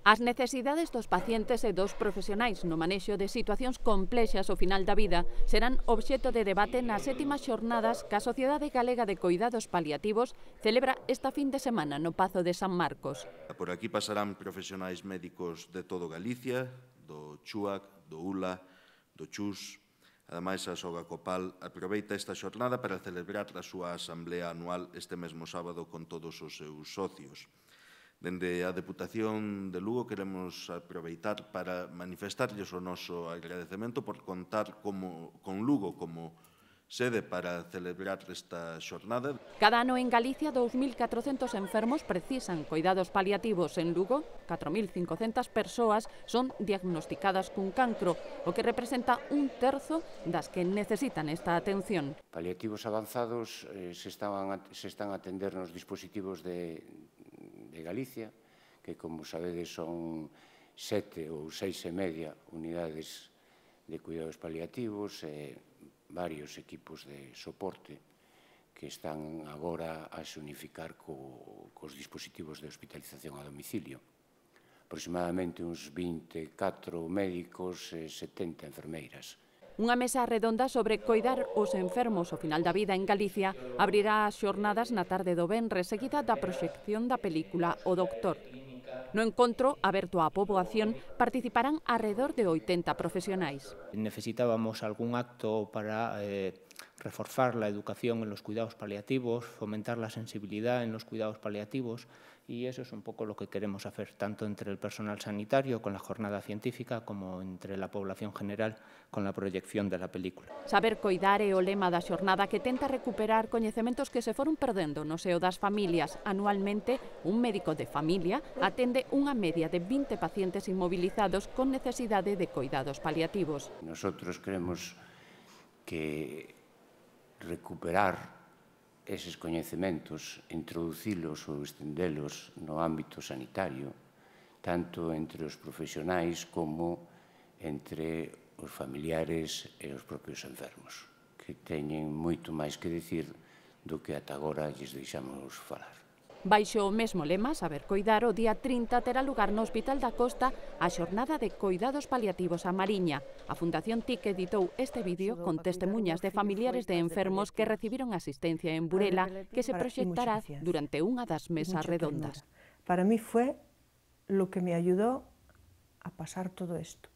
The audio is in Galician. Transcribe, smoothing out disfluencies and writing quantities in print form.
As necesidades dos pacientes e dos profesionais no manexo de situacións complexas ao final da vida serán obxecto de debate nas 7ª xornadas que a Sociedade Galega de Coidados Paliativos celebra esta fin de semana no Pazo de San Marcos. Por aquí pasarán profesionais médicos de todo Galicia, do CHUAC, do ULA, do CHUS. Ademais, a Soga Copal aproveita esta xornada para celebrar a súa asamblea anual este mesmo sábado con todos os seus socios. Dende a Deputación de Lugo queremos aproveitar para manifestarlles o noso agradecemento por contar con Lugo como sede para celebrar esta xornada. Cada ano en Galicia 2.400 enfermos precisan coidados paliativos. En Lugo, 4.500 persoas son diagnosticadas cun cancro, o que representa un terzo das que necesitan esta atención. Paliativos avanzados se están a atender nos dispositivos de Galicia, que, como sabedes, son 7 ou 6,5 unidades de cuidados paliativos e varios equipos de soporte que están agora a se unificar cos dispositivos de hospitalización a domicilio. Aproximadamente uns 24 médicos e 70 enfermeiras. Unha mesa redonda sobre coidar os enfermos ao final da vida en Galicia abrirá as xornadas na tarde do venres, seguida da proxección da película O Doctor. No encontro, aberto á poboación, participarán arredor de 80 profesionais. Necesitábamos algún acto para reforzar la educación en los cuidados paliativos, fomentar la sensibilidad en los cuidados paliativos, y eso es un poco lo que queremos hacer, tanto entre el personal sanitario con la jornada científica como entre la población general con la proyección de la película. Saber coidar é o lema da xornada que tenta recuperar coñecementos que se foron perdendo no seo das familias. Anualmente, un médico de familia atende unha media de 20 pacientes inmovilizados con necesidade de coidados paliativos. Nosotros creemos que recuperar eses coñecementos, introducilos ou estendelos no ámbito sanitario, tanto entre os profesionais como entre os familiares e os propios enfermos, que teñen moito máis que dicir do que ata agora lles deixamos falar. Baixo o mesmo lema, Saber Coidar, o día 30 terá lugar no Hospital da Costa a xornada de coidados paliativos a Mariña. A Fundación TIC editou este vídeo con testemunhas de familiares de enfermos que recibiron asistencia en Burela, que se proxectará durante unha das mesas redondas. Para mí fue lo que me ayudó a pasar todo esto.